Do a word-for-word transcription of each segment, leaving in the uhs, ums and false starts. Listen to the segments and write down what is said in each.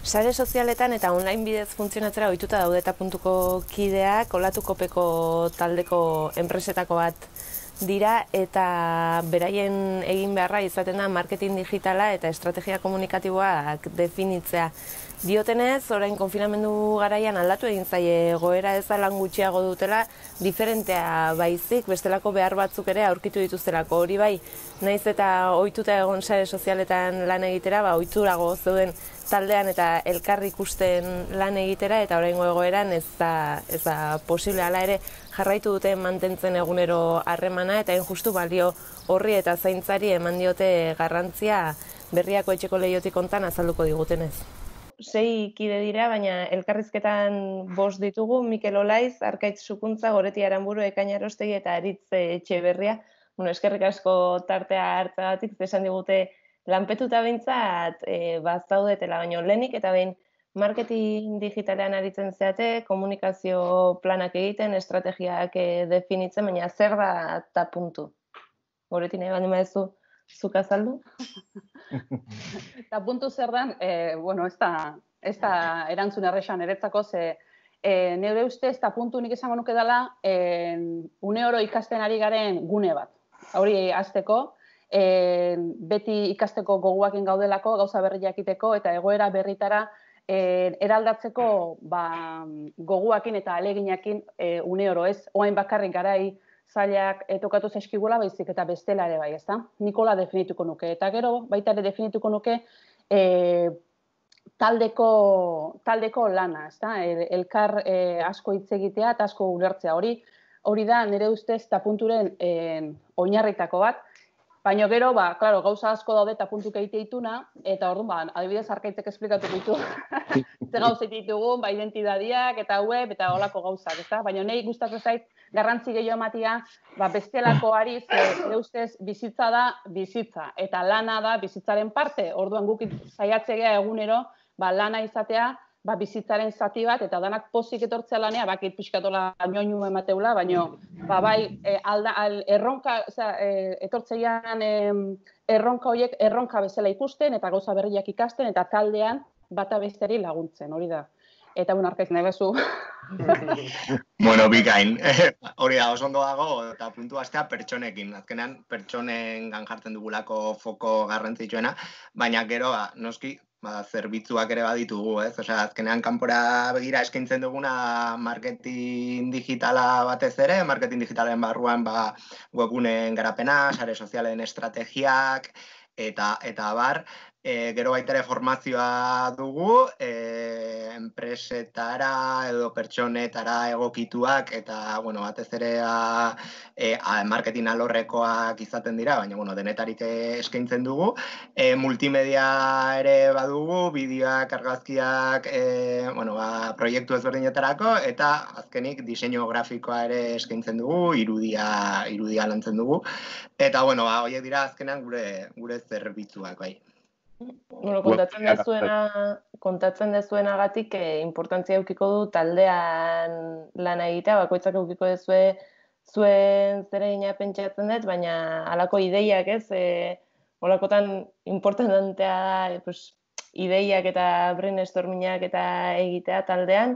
Sare sozialetan eta online bidez funtzionatzera ohituta daude eta puntuko kideak, Olatukopeko taldeko enpresetako bat dira eta beraien egin beharra izaten da marketing digitala eta estrategia komunikatiboak definitzea. Diotenez, orain konfinamendu garaian aldatu egin zaie egoera ez lan gutxiago dutela, diferentea baizik, bestelako behar batzuk ere aurkitu dituztelako. Hori bai, naiz eta ohituta egon sare sozialetan lan egitera, ba, ohiturago zeuden taldean eta elkar ikusten lan egitera, eta oraingo egoeran ez da, ez da posible. Hala ere jarraitu dute mantentzen egunero harremana, eta hain justu balio horri eta zaintzari eman diote garrantzia Berriako etxeko lehiotik hontan azalduko digutenez. Sei kide dira, baina elkarrizketan bost ditugu, Mikel Olaiz, Arkaitz Sukuntza, Goreti Aranburu, Ekaina Arostegi eta Aritz Etxeberria. Bueno, eskerrik asko tartea hartzagatik, esan digute lanpetuta behintzat e, bazaudetela, baino lehenik eta behin marketing digitalean aritzen zeate, komunikazio planak egiten, estrategiak e, definitzen, baina zer da eta puntu? Goreti nahi baldin baduzu zuk azaldu? Eta puntu zer dan, e, bueno, ez da, ez da erantzun errexan eretzako, ze e, nire uste ez da puntu nik esango nuke dela, e, une oro ikasten ari garen gune bat. Hori hasteko, e, beti ikasteko goguakin gaudelako, gauza berriak iteko, eta egoera berritara e, eraldatzeko ba, goguakin eta aleginakin e, une oro ez, oain bakarrik garai, zailak tokatu zaizkigula baizik eta bestela ere bai, ezta? Nikola definituko nuke. Eta gero, baita ere definituko nuke e, taldeko, taldeko lana, ezta? E, elkar e, asko hitz egitea eta asko ulertzea. Hori, hori da nire ustez eta punturen e, oinarritako bat. Baina gero, ba, claro, gauza asko daude eta puntuk egite dituna, eta orduan, ba, adibidez Arkaitzek esplikatu ditu. Ze gauza ditugun, ba, identidadiak eta web eta holako gauzak, ezta? Baina nahi gustatzen zait garrantzi gehiago ematia, ba, bestelakoari, ze ustez bizitza da bizitza, eta lana da bizitzaren parte. Orduan guk saiatzea egunero, ba, lana izatea, ba, bizitzaren zati bat, eta danak pozik etortzea lanea, bakit pixkatola ñoñu emateula, baina ba, bai, e, alda, al, erronka, oza, e, etortzeian e, erronka horiek erronka bezala ikusten, eta gauza berriak ikasten, eta taldean bata besteri laguntzen, hori da. Eta un Arkaiz nahi bezu. Bueno, bikain. Hori da, oso ondo dago, eta puntu astea pertsonekin. Azkenean, pertsonen gan jartzen dugulako foko garrantzitsuena, baina gero, ba, noski, ba, zerbitzuak ere baditugu, ez? Osea, azkenean kanpora begira eskaintzen duguna marketing digitala batez ere, marketing digitalen barruan ba, webguneen garapena, sare sozialen estrategiak, eta, eta bar, e, gero baita ere formazioa dugu, e, enpresetara edo pertsonetara egokituak, eta, bueno, batez ere a, e, a, marketing alorrekoak izaten dira, baina, bueno, denetarik eskaintzen dugu. E, multimedia ere badugu, bideoak, argazkiak, e, bueno, ba, proiektu ezberdinetarako, eta azkenik diseinu grafikoa ere eskaintzen dugu, irudia, irudia lantzen dugu. Eta, bueno, ba, horiek dira azkenean gure, gure zerbitzuak, bai. Bueno, kontatzen dezuena, kontatzen dezuenagatik eh, importantzia eukiko du taldean lana egitea, bakoitzak eukiko dezue zuen zeregina pentsatzen dut, baina halako ideiak ez, eh, holakotan importantea da, pues, ideiak eta brainstormingak eta egitea taldean,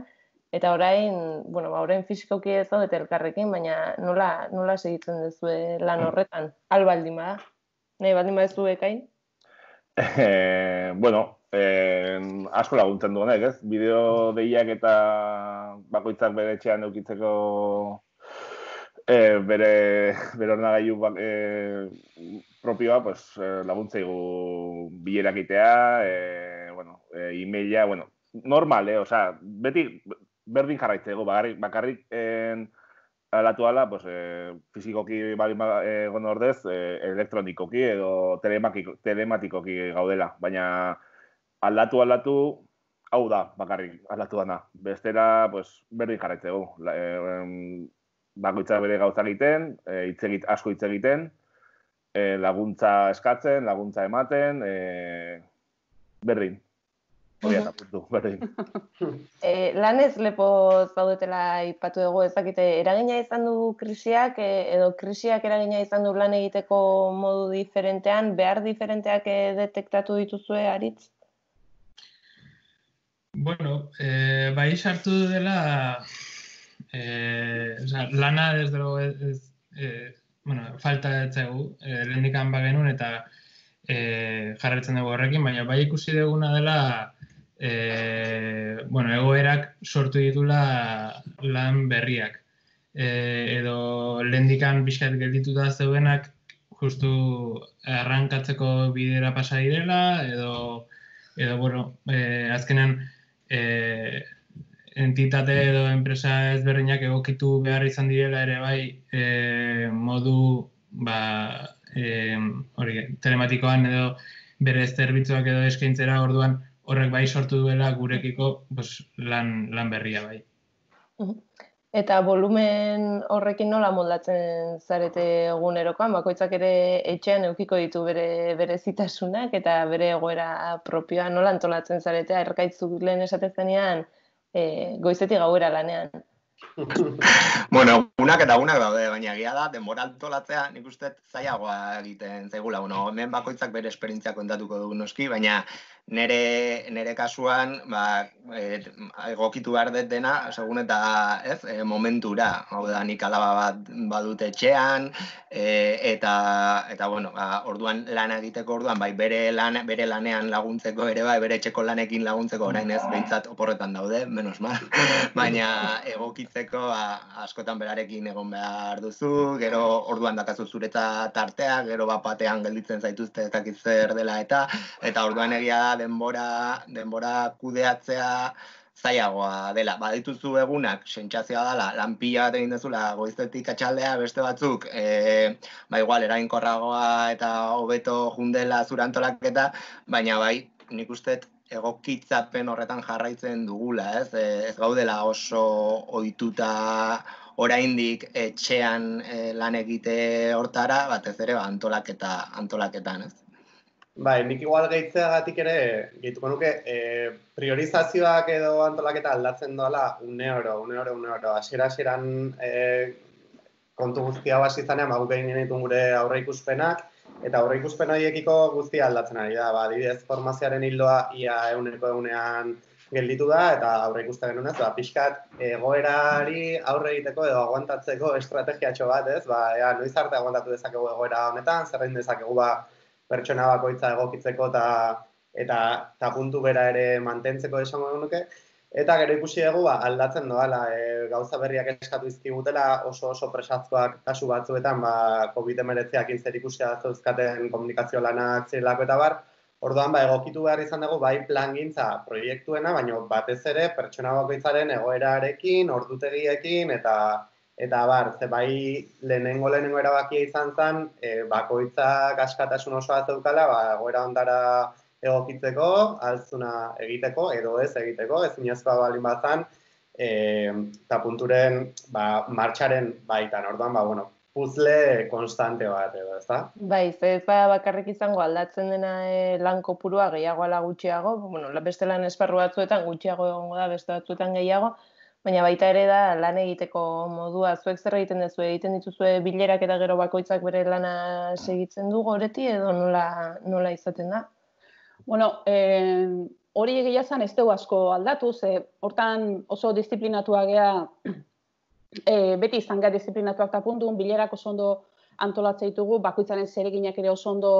eta orain, bueno, ba, orain fisikoki ez zaudete elkarrekin, baina nola, nola segitzen dezue lan horretan, albaldin bada, nahi baldin badezu Ekain? Eh, bueno, eh, asko laguntzen du honek, ez? Bideo deiak eta bakoitzak bere etxean eukitzeko eh, bere, bere ordenagailu eh, propioa, pues, eh, laguntzaigu bilerak itea, eh, bueno, eh, e-maila, bueno, normal, eh? Osea, beti berdin jarraitzeko, bakarrik, bakarrik eh, alatu ala, pues, eh, fizikoki baldin egon eh, ordez, eh, elektronikoki edo telematikoki gaudela. Baina aldatu aldatu, hau da, bakarrik aldatu dana. Bestera, pues, berdin jarraitzegu. Eh, bakoitza bere gauza egiten, eh, itzegit, asko hitz egiten, eh, laguntza eskatzen, laguntza ematen, eh, berdin. Hori eta puntu, berdin. E, lanez lepo zaudetela ipatu dugu, ezakite, eragina izan du krisiak, e, edo krisiak eragina izan du lan egiteko modu diferentean, behar diferenteak e, detektatu dituzue, Aritz? Bueno, eh, bai sartu dela eh, o sea, lana desde luego ez, eh, bueno, falta etzegu, eh, lehendikan bagenun eta eh, jarraitzen dugu horrekin, baina bai ikusi duguna dela eh, bueno, egoerak sortu ditula lan berriak. Eh, edo lehendikan pixkat geldituta zeudenak justu arrankatzeko bidera pasa direla, edo, edo bueno, eh, azkenan eh, entitate edo enpresa ezberdinak egokitu behar izan direla ere bai e, modu ba, e, hori, telematikoan edo bere zerbitzuak edo eskaintzera orduan horrek bai sortu duela gurekiko pues, lan, lan berria bai. Eta volumen horrekin nola moldatzen zarete egunerokoan, bakoitzak ere etxean edukiko ditu bere berezitasunak eta bere egoera propioa nola antolatzen zarete, erkaitzuk lehen esatezenean e, goizetik gauera lanean. Bueno, unak eta unak daude, baina egia da, denbora antolatzea nik uste zailagoa egiten zaigula. Bueno, hemen bakoitzak bere esperientzia kontatuko dugu noski, baina nere, nere kasuan ba, e, egokitu behar dut dena, segun eta ez, e, momentura. Hau da, nik alaba bat badut etxean, e, eta, eta bueno, ba, orduan lana egiteko orduan, bai bere, lan, bere lanean laguntzeko ere, bai bere etxeko lanekin laguntzeko orain ez, behintzat oporretan daude, menos mal, baina egokitzeko ba, askotan berarekin egon behar duzu, gero orduan dakazu zuretza tartea, gero bat batean gelditzen zaituzte ez dakit zer dela eta, eta orduan egia da denbora, denbora kudeatzea zailagoa dela. Badituzu egunak, sentsazioa dela, lan pila bat egin dezula goizetik atxaldea, beste batzuk, e, ba igual, erainkorragoa eta hobeto jundela zure antolaketa, baina bai, nik uste egokitzapen horretan jarraitzen dugula, ez? Ez gaudela oso ohituta oraindik etxean e, lan egite hortara, batez ere ba, antolaketa, antolaketan, ez? Bai, nik igual gehitzeagatik ere, gehituko nuke, e, priorizazioak edo antolaketa aldatzen doala une oro, une oro, une oro. Hasiera-hasieran e, kontu guztia hasi zanean, ba, guk egin genituen gure aurreikuspenak, eta aurreikuspen horiekiko guztia aldatzen ari da. Ba, adibidez, formazioaren hildoa ia eguneko egunean gelditu da, eta aurreikusten genuen ez, ba, pixkat egoerari aurre egiteko edo aguantatzeko estrategiatxo bat, ez? Ba, ea, noiz arte aguantatu dezakegu egoera honetan, zerrein dezakegu ba, pertsona bakoitza egokitzeko eta eta ta puntu bera ere mantentzeko esango nuke. Eta gero ikusi dugu ba, aldatzen doala, e, gauza berriak eskatu izkigutela oso oso presazkoak kasu batzuetan ba, covid hemeretziakin zer ikusia zeuzkaten komunikazio lanak zirelako eta bar. Orduan ba, egokitu behar izan dugu bai plangintza proiektuena, baina batez ere pertsona bakoitzaren egoerarekin, ordutegiekin eta Eta bar, ze bai lehenengo lehenengo erabakia izan zen, e, bakoitzak askatasun osoa zeukala, ba, egoera ondara egokitzeko, altzuna egiteko, edo ez egiteko, ezinezkoa balin bat zen, e, eta punturen ba, martxaren baitan, orduan, ba, bueno, puzle konstante bat edo, ezta? Bai, ze ez ba bakarrik izango aldatzen dena e, lan kopurua gehiago ala gutxiago, bueno, beste lan esparru batzuetan gutxiago egongo da, beste batzuetan gehiago, baina baita ere da lan egiteko modua, zuek zer egiten duzu, egiten dituzue bilerak eta gero bakoitzak bere lana segitzen du goreti edo nola, nola izaten da? Bueno, eh, hori egia zen ez dugu asko aldatu, ze hortan oso disiplinatua gea, eh, beti izan gara disiplinatuak eta puntun, bilerak oso ondo antolatzea ditugu, bakoitzaren zereginak ere oso ondo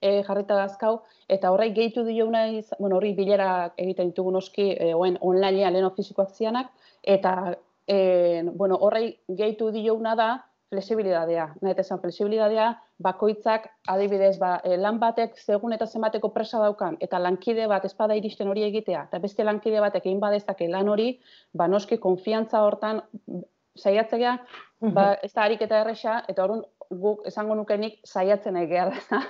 eh, jarrita dazkau, eta horrek gehitu dioguna, bueno, horri bilerak egiten ditugu noski, eh, oen onlinean lehen fizikoak zianak, eta e, bueno, horrei gehitu dioguna da flexibilidadea. Nahet esan flexibilidadea, bakoitzak adibidez ba, lan batek segun eta zenbateko presa daukan, eta lankide bat espada iristen hori egitea, eta beste lankide batek egin badezake lan hori, ba noski konfiantza hortan saiatzea, ba, ez da harik eta erresa, eta horren guk esango nukenik saiatzen egea da.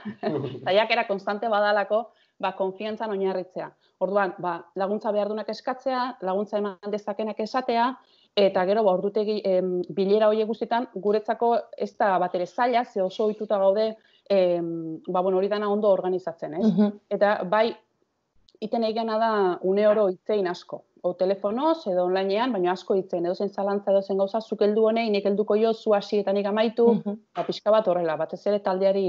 Saiakera konstante badalako, ba, konfiantzan oinarritzea. Orduan, ba, laguntza behardunak eskatzea, laguntza eman dezakenak esatea, eta gero, ba, ordutegi em, bilera horiek guztietan, guretzako ez da bat ere zaila, ze oso ohituta gaude, em, ba, bueno, hori dana ondo organizatzen, ez? Uh-huh. Eta bai, iten egana da une oro hitzein asko, o telefonoz edo onlinean, baina asko hitzein, edo zen zalantza, edo zen gauza, zuk heldu honei, nik helduko jo, zu hasi eta nik amaitu, uh-huh. ba, pixka bat horrela, batez ere taldeari,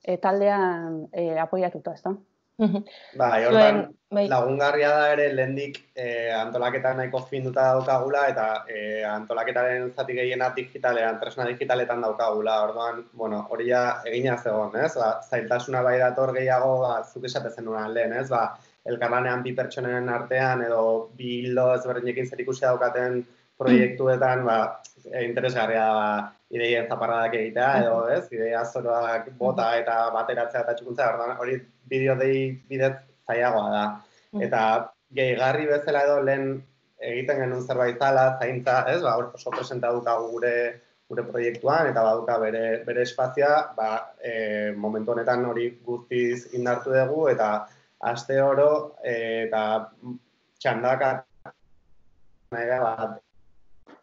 e, taldean e, apoiatuta, ez da? Bai, hortan lagungarria da ere lehendik eh, antolaketa nahiko finduta daukagula eta eh, antolaketaren zati gehiena digitalean, tresna digitaletan daukagula. Orduan, bueno, hori ja egina zegoen, ez? Ba, zailtasuna bai dator gehiago, ba, zuk esate zenuen lehen, ez? Ba, elkarlanean bi pertsonen artean edo bi hildo ezberdinekin zerikusia daukaten proiektuetan, ba, interesgarria da ba, ideien zaparradak egitea edo, ez? Ideia zoroak bota eta bateratzea eta txukuntza, orduan, hori bideo dei bidez zailagoa da. Eta gehigarri bezala edo lehen egiten genuen zerbait zala, zaintza, ez? Ba, oso presenta dukagu gure gure proiektuan eta baduka bere bere espazioa, ba, e, momentu honetan hori guztiz indartu dugu eta aste oro e, eta txandaka nahi da, ba,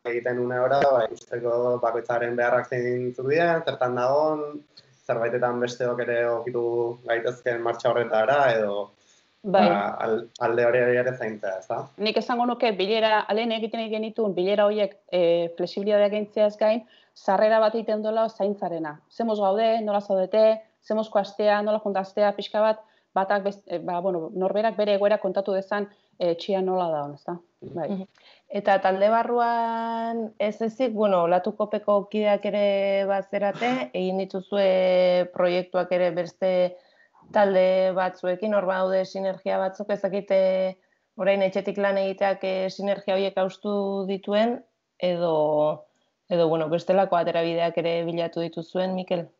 egiten une ora, ba, ikusteko bakoitzaren beharrak zein zurien, zertan dagon, zerbaitetan besteok ere okitu gaitezken martxa horretara, edo bai. Ba, alde hori ere zaintzea, ez da? Nik esango nuke, bilera, alen egiten egin dituen, bilera horiek e, flexibilitatea gaintzeaz gain, sarrera bat egiten dola zaintzarena. Zemoz gaude, nola zaudete, zemozko astea, nola juntaztea, pixka bat, batak, best, e, ba, bueno, norberak bere egoera kontatu dezan, e, txia nola da, ez da? Bai. Eta talde barruan ez ezik, bueno, Olatukopeko kideak ere bazerate, egin dituzue proiektuak ere beste talde batzuekin, hor baude sinergia batzuk, ezakite orain etxetik lan egiteak sinergia horiek haustu dituen, edo, edo bueno, bestelako aterabideak ere bilatu dituzuen, Mikel?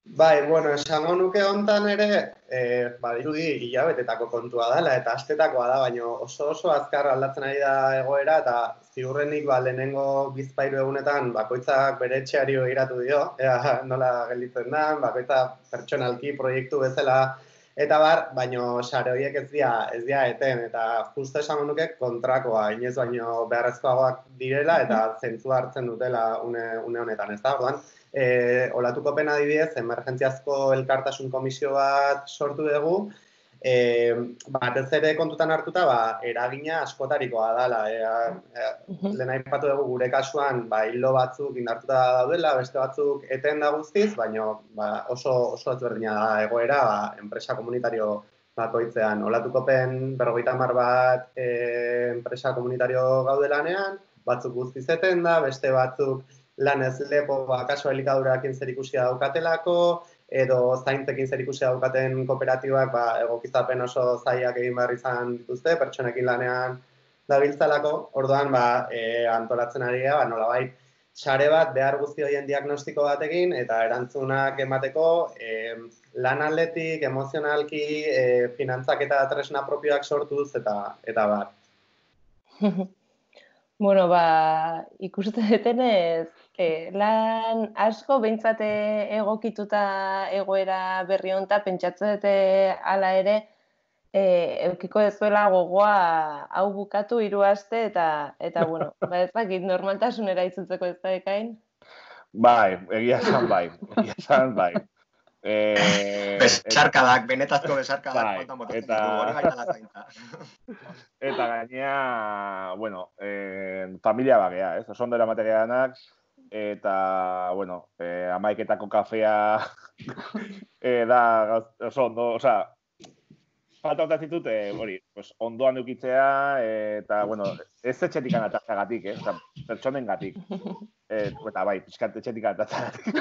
Bai, bueno, esango nuke hontan ere, eh, badirudi hilabetetako kontua dela eta astetakoa da, baina oso oso azkar aldatzen ari da egoera eta ziurrenik ba, lehenengo bizpahiru egunetan bakoitzak bere etxeari begiratu dio, ea nola gelditzen da, bakoitza pertsonalki proiektu bezala eta bar, baina sare horiek ez dira, ez dira eten eta justo esango nuke kontrakoa, inoiz baino beharrezkoagoak direla eta zentzu hartzen dutela une, une honetan, ez da, orduan. E, Olatukopen adibidez, emergentziazko elkartasun komisio bat sortu dugu, e, batez ere kontutan hartuta, ba, eragina askotarikoa dela. E, e, lehen aipatu dugu gure kasuan, ba, hildo batzuk indartuta daudela, beste batzuk eten da guztiz, baina ba, oso, oso ezberdina da egoera, ba, enpresa komunitario bakoitzean. Olatukopen berrogeita hamar bat e, enpresa komunitario gaudelanean, batzuk guztiz eten da, beste batzuk lan ez lepo, ba, kaso elikadurakin zerikusia daukatelako, edo zaintzekin zerikusia daukaten kooperatibak, ba, egokizapen oso zailak egin behar izan dituzte, pertsonekin lanean dabiltzalako, orduan, ba, e, antolatzen ari gara, ba, nolabait, sare bat behar guzti horien diagnostiko batekin, eta erantzunak emateko, e, lan atletik, emozionalki, e, finantzak eta tresna propioak sortuz, eta, eta bat. Bueno, ba, ikuste detenez, eh, lan asko behintzate egokituta egoera berri honta, pentsatzen dute hala ere, eh, eukiko dezuela gogoa hau bukatu hiru aste eta, eta bueno, ba ez dakit normaltasunera itzultzeko ez da ekain? Bai, egia esan bai, egia esan bai. Eh, besarkadak, benetazko besarkadak, bai, eta, eta gainea, bueno, eh, familia bagea, ez? Oso ondera materialanak, eta, bueno, eh, amaiketako kafea eh, da, oso ondo, oza, falta onta zitut, eh, hori, pues, ondoan eukitzea, eh, eta, bueno, ez etxetik anatazagatik, eh? Oza, pertsonen gatik. Eh, eta bai, pixkat etxetik anatazagatik.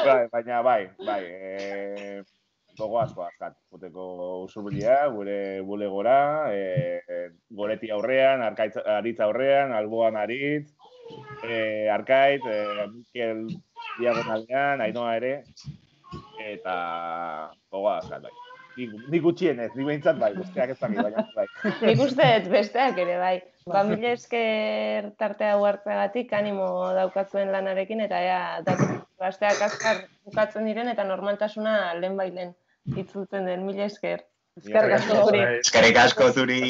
Bai, baina bai, bai, e, gogo asko azkat, guteko usurbilia, gure bulegora, e, goreti aurrean, arkaitz, aritz aurrean, alboan aritz, e, arkait, e, Mikel diagonalean, Ainoa ere, eta gogo azkat, bai. Nik gutxienez, nik behintzat bai, besteak ez dakit, baina bai. Nik uste besteak ere bai. Ba, mila esker tartea huartzeagatik animo daukatzuen lanarekin, eta ea, gazteak azkar bukatzen diren, eta normaltasuna lehen bailen itzultzen den, mila esker. Eskerrik asko zuri. Eskerrik asko zuri.